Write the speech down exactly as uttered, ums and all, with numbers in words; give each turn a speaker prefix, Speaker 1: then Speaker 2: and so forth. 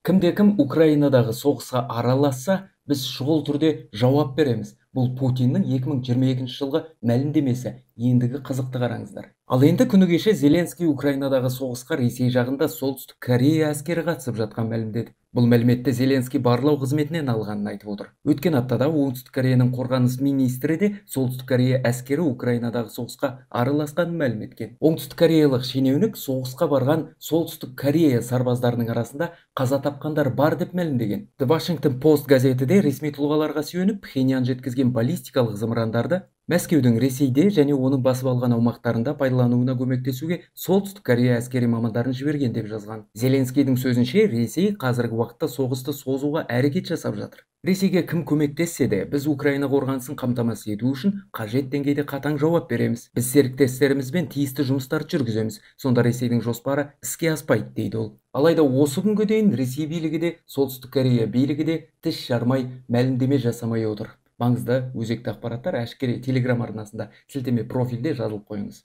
Speaker 1: Кімде-кім Украинадағы соғысқа араласса, біз шұғыл түрде жауап береміз. Бұл Путиннің екі мың жиырма екінші жылғы мәлімдемесі. Ендігі қызықты қараңыздар. Ал енді күні кеше Зеленский Украинадағы соғысқа Ресей жағында Солтүстік Корея әскері қатысып жатқан мәлімдеді. Бұл мәліметті Зеленский барлау қызметінен алғанын айтып отыр. Өткен аптада Оңтүстік Кореяның қорғаныс министрі де Солтүстік Корея әскері Украинадағы соғысқа араласқанын мәлім еткен. Оңтүстік Кореялық шенеунік соғысқа барған Солтүстік Корея сарбаздарының арасында қаза тапқандар бар деп мәлімдеген. The Washington Post газеті де ресми тұлғаларға сүйеніп Пхеньян жеткізген баллистикалық зымырандарды Мәскеудің Ресейде және оның басып алған аумақтарында пайдалануына көмектесуге Солтүстік Корея әскери мамандарын жіберген деп жазған. Зеленскийдің сөзінше, Ресей қазіргі уақытта соғысты созуға әрекет жасап жатыр. Ресейге кім көмектессе де, біз Украина қорғанысын қамтамасыз ету үшін қажет деңгейде қатаң жауап береміз. Біз серіктестерімізбен тиісті жұмыстарды жүргіземіз. Сонда Ресейдің жоспары іске аспайды, дейді ол. Алайда осы күнге дейін Ресей билігі де, Солтүстік Корея билігі де тіс жармай мәлімдеме жасамай отыр. Маңызды өзекті ақпараттар әшкере Телеграм арнасында сілтеме профилде жазылып қойыңыз.